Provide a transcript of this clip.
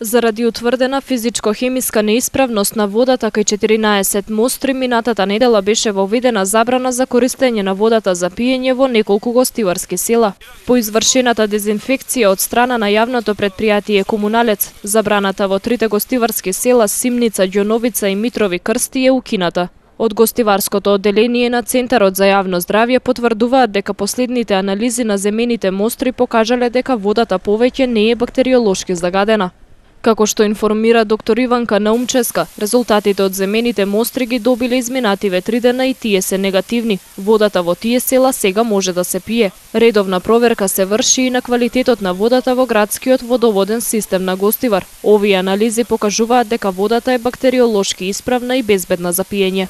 Заради утврдена физичко-хемиска неисправност на водата кај 14 мостри, минатата недела беше воведена забрана за користење на водата за пиење во неколку гостиварски села. По извршената дезинфекција од страна на јавното претпријатие Комуналец, забраната во трите гостиварски села Симница, Ѓоновица и Митрови Крсти е укината. Од гостиварското одделение на Центарот за јавно здравје потврдуваат дека последните анализи на земените мостри покажале дека водата повеќе не е бактериолошки загадена. Како што информира доктор Иванка Наумческа, резултатите од земените мостри ги добиле изминативе 3 дена и тие се негативни. Водата во тие села сега може да се пие. Редовна проверка се врши и на квалитетот на водата во градскиот водоводен систем на Гостивар. Овие анализи покажуваат дека водата е бактериолошки исправна и безбедна за пиење.